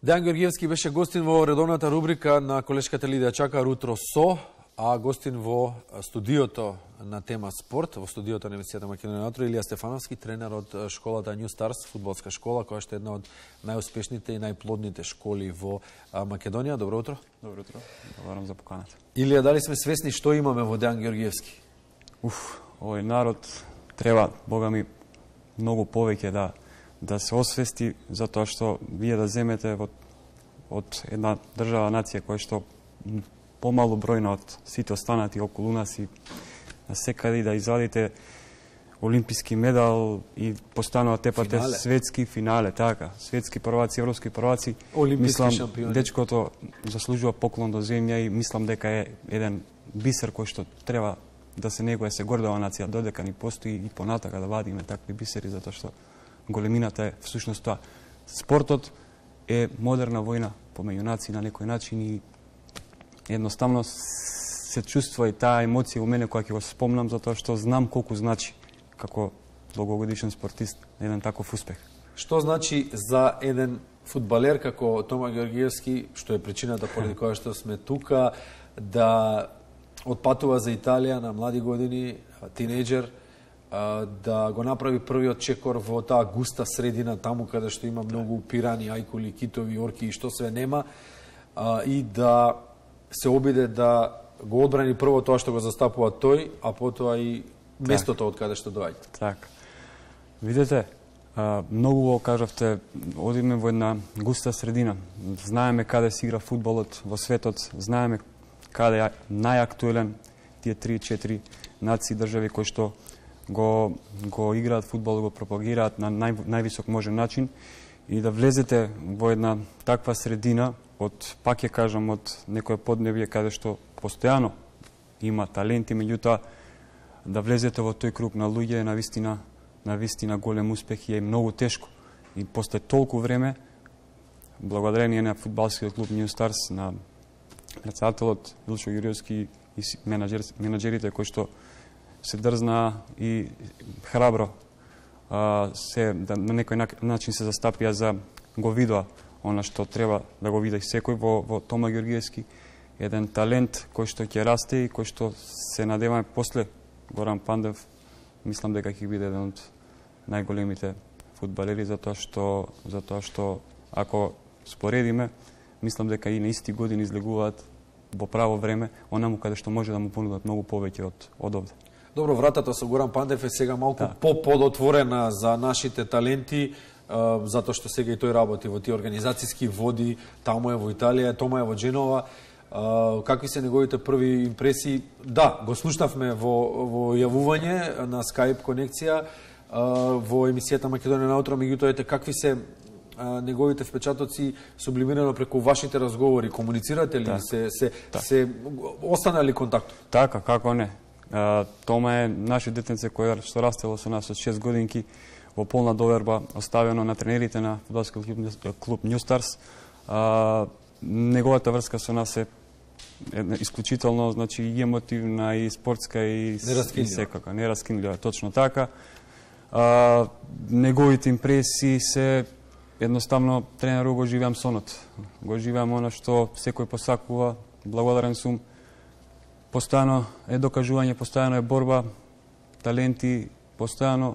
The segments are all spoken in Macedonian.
Дејан Георгиевски беше гостин во редовната рубрика на колешката Лидија Чакар утро со, а гостин во студиото на тема спорт, во студиото на емисијата Македонија на утро, Илија Стефановски, тренер од школата New Stars, фудбалска школа, која што е една од најуспешните и најплодните школи во Македонија. Добро утро. Добро утро. Благодарам за поканата. Илија, дали сме свесни што имаме во Дејан Георгиевски? Овој народ треба, Бога ми, многу повеќе да се освести, затоа што вие да земете од една држава, нација која што помалу бројна од сите останати околу нас и на секаде да извадите олимписки медал и постанува тепате светски финале, така, светски прваци, европски прваци. Олимписки шампиони. Дечкото заслужува поклон до земја и мислам дека е еден бисер кој што треба да се негуе, се гордува нација, додека ни постои и понатака да вадиме такви бисери, затоа што големината е всушност тоа. Спортот е модерна војна помеѓу нации на некој начин и едноставно се чувствува и таа емоција у мене која ќе го спомнам, затоа што знам колку значи како долгогодишен спортист еден таков успех. Што значи за еден фудбалер како Тома Георгиевски, што е причината поради која што сме тука, да отпатува за Италија на млади години, тинејџер, да го направи првиот чекор во таа густа средина, таму каде што има многу пирани, ајкули, китови, орки и што све нема, и да се обиде да го одбрани прво тоа што го застапува тој, а потоа и местото од каде што доаѓа. Така. Видете, многу го кажавте, одиме во една густа средина. Знаеме каде се игра фудбалот во светот, знаеме каде е најактуелен тие 3-4 нации, држави кои што го играат фудбал, го пропагираат на највисок можен начин и да влезете во една таква средина пак ќе кажам, од некој поднебје каде што постојано има таленти, меѓутоа да влезете во тој круг на луѓе е навистина голем успех и е многу тешко. И после толку време, благодарение на фудбалскиот клуб New Stars, на председателот Илчо Јуриевски и менаџерите кои што се дрзна и храбро на некој начин се застапија за го видоа она што треба да го види секој во Тома Георгиевски, еден талент кој што ќе расте и кој што се надеваме после Горан Пандев, мислам дека ќе биде еден од најголемите фудбалери, затоа што ако споредиме, мислам дека и на исти години излегуваат во право време, онаму каде што може да му понудат многу повеќе од овде. Добро, вратата со Горан Пандев е сега малку подотворена за нашите таленти, затоа што сега и тој работи во тие организацијски води, таму е во Италија, Тома е во Дженова. Какви се неговите први импресии? Да, го слушнавме во јавување на Skype конекција во емисијата Македонија на утро, меѓутоа какви се неговите впечатоци сублимирано преку вашите разговори? Комуницирате ли? Се остана ли контакт? Така, како не. Тома е наше детенце кој што растело со нас од 6 годинки во полна доверба, оставено на тренерите на фудбалскиот клуб New Stars. Неговата врска со нас е исклучително, значи и емотивна, и спортска, и секака, нераскинлива, точно така. Неговите импресии се едноставно тренеру го живеам сонот. Го живеам она што секој посакува, благодарен сум. Постојано е докажување, постојано е борба, таленти постојано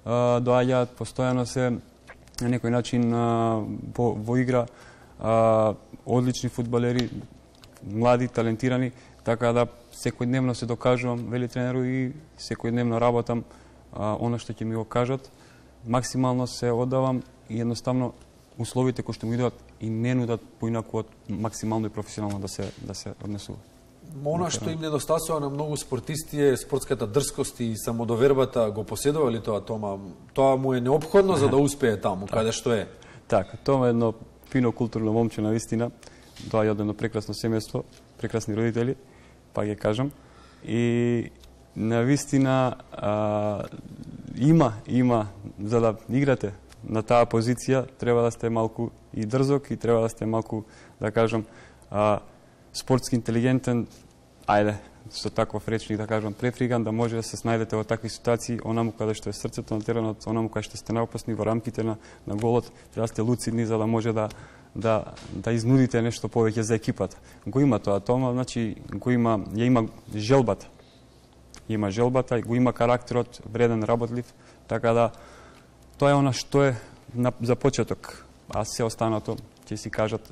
доаѓаат, постојано се на некој начин во игра, одлични фудбалери, млади, талентирани, така да секојдневно се докажувам, вели тренеру, и секојдневно работам она што ќе ми го кажат. Максимално се оддавам и едноставно условите кои што ми идат и не нудат поинаку од максимално и професионално да се однесува. Она што им недостасува на многу спортисти е спортската дрскост и самодовербата. Го поседува ли тоа Тома? Тоа му е неопходно за да успее таму, каде што е? Така, Тома е едно фино културно момче на вистина. Доаѓа од едно прекрасно семејство, прекрасни родители, па ќе кажам. И на вистина има за да играте на таа позиција, треба да сте малку и дрзок и треба да сте малку, да кажам, спортски интелигентен, ајде, со таков речник, да кажам, префриган, да може да се снајдете во такви ситуации, онаму каде што е срцето на теренот, онаму каде што сте наопасни во рамките на голот, треба да сте луцидни за да може да изнудите нешто повеќе за екипата. Го има тоа, значи го има, ја има желбата. Има желбата, го има карактерот, вреден, работлив, така да тоа е она што е за почеток. А се останато ќе си кажат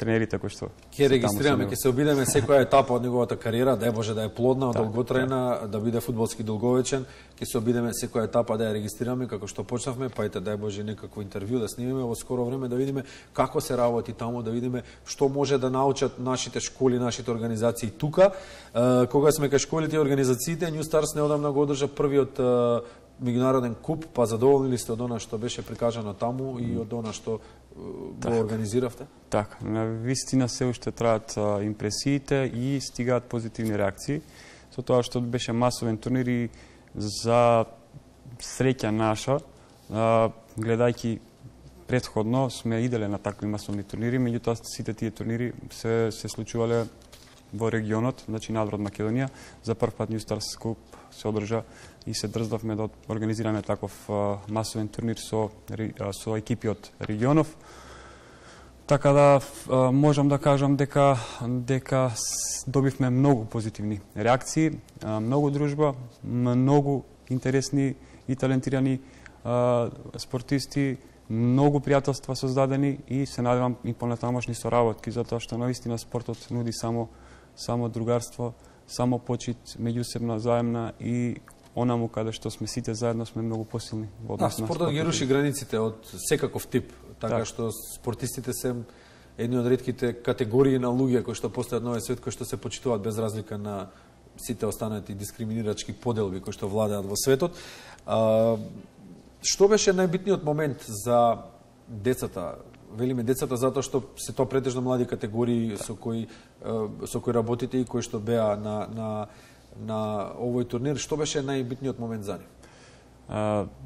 тренерите кои што ќе регистрираме, ќе се обидеме секоја етапа од неговата кариера, дај Боже да е плодна, долготрајна, да биде фудбалски долговечен, ќе се обидеме секоја етапа да ја регистрираме како што почнавме, па ете дај Боже некакво интервју да снимиме во скоро време, да видиме како се работи таму, да видиме што може да научат нашите школи, нашите организации тука. Кога сме кај школите и организациите, New Stars неодамна го одржа првиот меѓународен куп, па задоволни ли сте од она што беше прикажано таму и од она што го организиравте? Така, на вистина се уште траат импресиите и стигаат позитивни реакции. Со тоа што беше масовен турнир и за среќа наша, гледајќи претходно сме иделе на такви масовни турнири, меѓутоа сите тие турнири се случувале во регионот, значи надвор од Македонија. За прв пат New Stars Cup се одржа и се дрздавме да организираме таков масовен турнир со екипи од регионов. Така да можам да кажам дека добивме многу позитивни реакции, многу дружба, многу интересни и талентирани спортисти, многу пријателства создадени и се надевам и понатамошни соработки, затоа што наистина спортот нуди само другарство, само почит, меѓусебна, заемна и онаму каде што сме сите заедно сме многу посилни во однос на спортот ги руши границите од секаков тип, така што спортистите се едни од ретките категории на луѓе кои што постојат на овој свет, кои што се почитуваат без разлика на сите останати дискриминирачки поделби кои што владеат во светот. Што беше најбитниот момент за децата? Велиме децата затоа што се тоа претежно млади категории со кои работите и кои што беа на овој турнир. Што беше најбитниот момент за нив?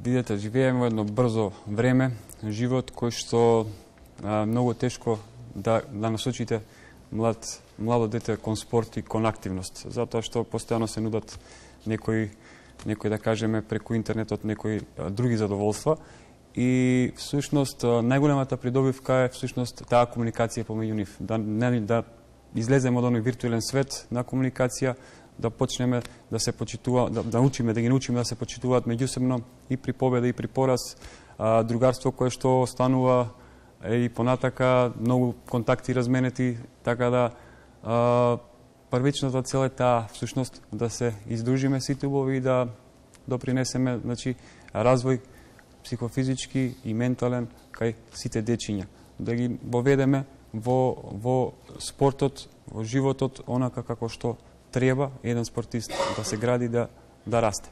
Видете, живееме во едно брзо време, живот кој што многу тешко да насочите младо дете кон спорт и кон активност, затоа што постојано се нудат некои да кажеме преку интернетот некои други задоволства и всушност најголемата придобивка е всушност таа комуникација помеѓу нив, да излеземе од оној виртуелен свет на комуникација, да почнеме да се почитува, да ги научиме да се почитуваат меѓусебно и при победа и при пораз, другарство кое што останува и понатака, многу контакти разменети, така да првичната цел е таа всушност да се издружиме сите убави и да допринесеме, значи, развој психофизички и ментален кај сите дечиња, да ги воведеме во спортот, во животот, онака како што треба еден спортист да се гради, да расте.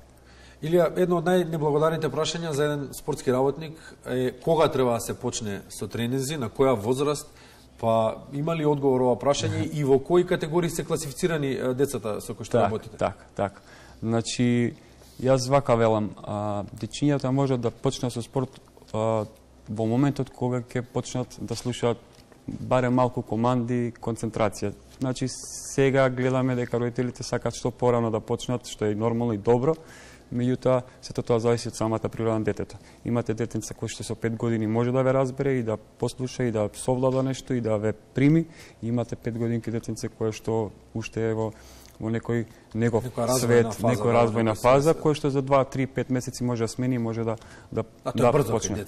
Илија, едно од најнеблагодарните прашања за еден спортски работник е кога треба да се почне со тренинзи, на која возраст, па има ли одговор ова прашање и во кои категории се класифицирани децата со кои што работите? Така. Значи, јас вака велам, дечињата можат да почнат со спорт во моментот кога ќе почнат да слушаат барем малку команди, концентрација. Значи, сега гледаме дека родителите сакат што порано да почнат, што е нормално и добро, меѓутоа, сето тоа зависи од самата природа на детето. Имате детенца кој што со 5 години може да ве разбере и да послуша и да совлада нешто и да ве прими. Имате 5 годинки детенце кој што уште е во некој негов свет, некоја развојна фаза, кој што за 2, 3, 5 месеци може да смени, може да почне.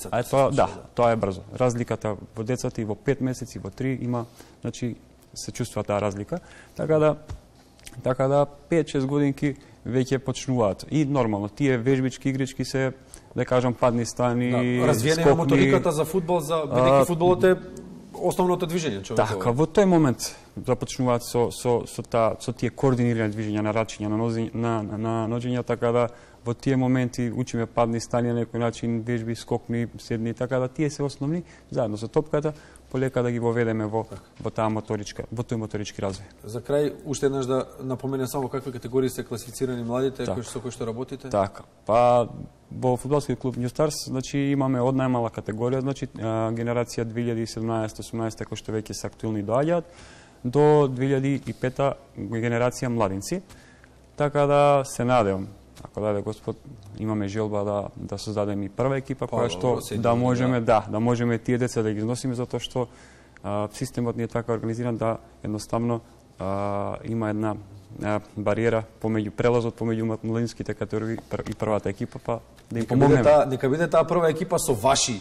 Тоа е брзо. Разликата во децата и во 5 месеци, во 3 има, значи, се чувствува таа разлика. Така да 5-6 годинки веќе почнуваат. И нормално, тие вежбички игрички се, да кажам, падни стани, развиена е моториката за фудбал, бидејќи фудбалот е основното движење човекот. Така, во тој момент започнуваат со тие координирани движења на рачиња, на ноѓења, така да во тие моменти учиме падни стани на некој начин, вежби, скокни, седни, така да тие се основни, заедно со топката, полека да ги воведеме во тој моторички развој. За крај, уште еднаш да напоменем само какви категории се класифицирани младите со кои што работите? Така, па во фудбалскиот клуб New Stars, значи имаме од најмала категорија, значи генерација 2017-18 кои што веќе се актуелни доаѓаат, до 2005 генерација младинци. Така да се надевам, ако даде Господ, имаме желба да создадеме и прва екипа која што да можеме тие деца да ги износиме, затоа што системот ни е така организиран да едноставно има една бариера прелазот помеѓу младинските категории и првата екипа, па да им помогнеме. Нека биде таа прва екипа со ваши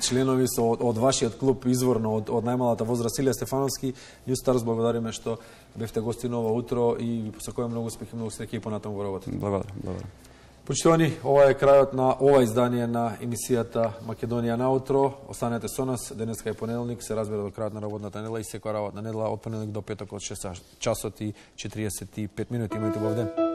членови, од вашиот клуб изворно, од најмалата возраст. Илија Стефановски, New Stars, благодариме што бевте гости ново утро и ви посакуваме многу успех и многу среќа и понатаму во работа. Благодарам. Почитувани, ова е крајот на ова издание на емисијата Македонија наутро. Останете со нас, денеска е понеделник, се разбира до крајот на работната недела и секоја работна недела од понеделник до петок од 6 часот и 45 минути. Имајте убав ден.